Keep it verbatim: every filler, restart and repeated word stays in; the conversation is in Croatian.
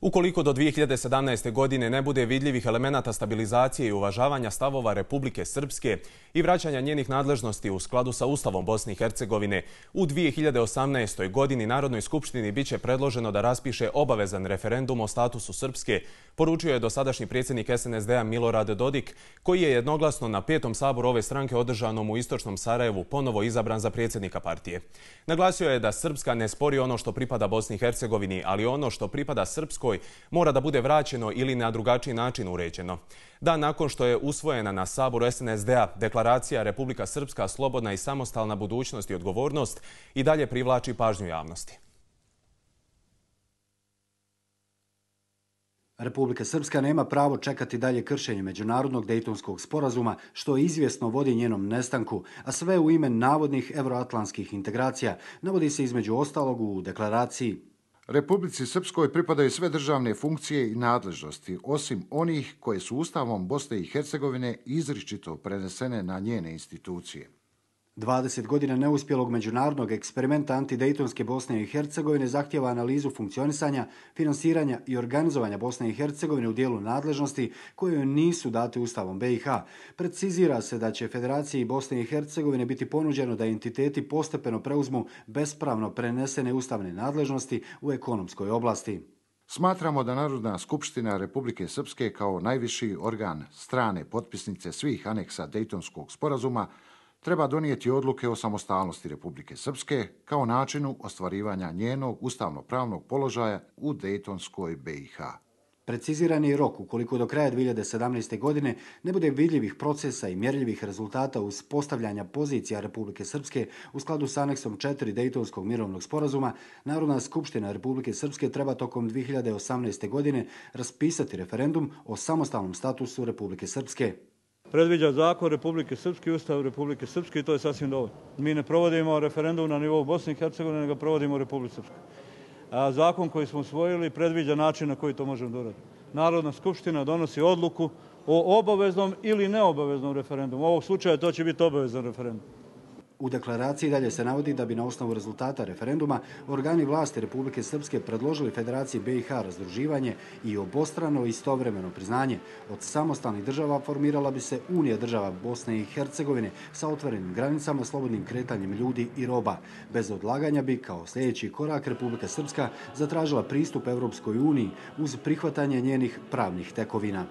Ukoliko do dvije hiljade sedamnaeste. godine ne bude vidljivih elemenata stabilizacije i uvažavanja stavova Republike Srpske i vraćanja njenih nadležnosti u skladu sa Ustavom Bosne i Hercegovine, u dvije hiljade osamnaestoj. godini Narodnoj skupštini biće predloženo da raspiše obavezan referendum o statusu Srpske, poručio je dosadašnji predsjednik S N S D-a Milorad Dodik, koji je jednoglasno na petom saboru ove stranke održanom u istočnom Sarajevu ponovo izabran za predsjednika partije. Naglasio je da Srpska ne spori ono što pripada Bosni i Hercegovini, ali ono što pripada Srpskoj mora da bude vraćeno ili na drugačiji način uređeno. Dan nakon što je usvojena na saboru S N S D-a deklaracija Republika Srpska slobodna i samostalna budućnost i odgovornost i dalje privlači pažnju javnosti. Republika Srpska nema pravo čekati dalje kršenje međunarodnog Dejtonskog sporazuma, što izvjesno vodi njenom nestanku, a sve u ime navodnih evroatlantskih integracija, navodi se između ostalog u deklaraciji. Republici Srpskoj pripadaju sve državne funkcije i nadležnosti, osim onih koje su Ustavom Bosne i Hercegovine izričito prenesene na njene institucije. dvadeset godina neuspjelog međunarodnog eksperimenta antidejtonske Bosne i Hercegovine zahtjeva analizu funkcionisanja, finansiranja i organizovanja Bosne i Hercegovine u dijelu nadležnosti koje nisu date Ustavom B i H. Precizira se da će Federaciji Bosne i Hercegovine biti ponuđeno da entiteti postepeno preuzmu bespravno prenesene ustavne nadležnosti u ekonomskoj oblasti. Smatramo da Narodna skupština Republike Srpske kao najviši organ strane potpisnice svih aneksa Dejtonskog sporazuma treba donijeti odluke o samostalnosti Republike Srpske kao načinu ostvarivanja njenog ustavno-pravnog položaja u Dejtonskoj B i H. Preciziran je rok ukoliko do kraja dvije hiljade sedamnaeste. godine ne bude vidljivih procesa i mjerljivih rezultata uz postavljanja pozicija Republike Srpske u skladu s aneksom četiri Dejtonskog mirovnog sporazuma, Narodna skupština Republike Srpske treba tokom dvije hiljade osamnaeste. godine raspisati referendum o samostalnom statusu Republike Srpske. Predviđa zakon Republike Srpske i Ustav Republike Srpske i to je sasvim dovoljno. Mi ne provodimo referendum na nivou Bosne i Hercegovine, nego provodimo u Republike Srpske. A zakon koji smo usvojili predviđa način na koji to možemo da uradimo. Narodna skupština donosi odluku o obaveznom ili neobaveznom referendumu. U ovog slučaja to će biti obavezan referendum. U deklaraciji dalje se navodi da bi na osnovu rezultata referenduma organi vlasti Republike Srpske predložili Federaciji B i H razdruživanje i obostrano istovremeno priznanje. Od samostalnih država formirala bi se Unija država Bosne i Hercegovine sa otvorenim granicama, slobodnim kretanjem ljudi i roba. Bez odlaganja bi kao sljedeći korak Republika Srpska zatražila pristup Evropskoj uniji uz prihvatanje njenih pravnih tekovina.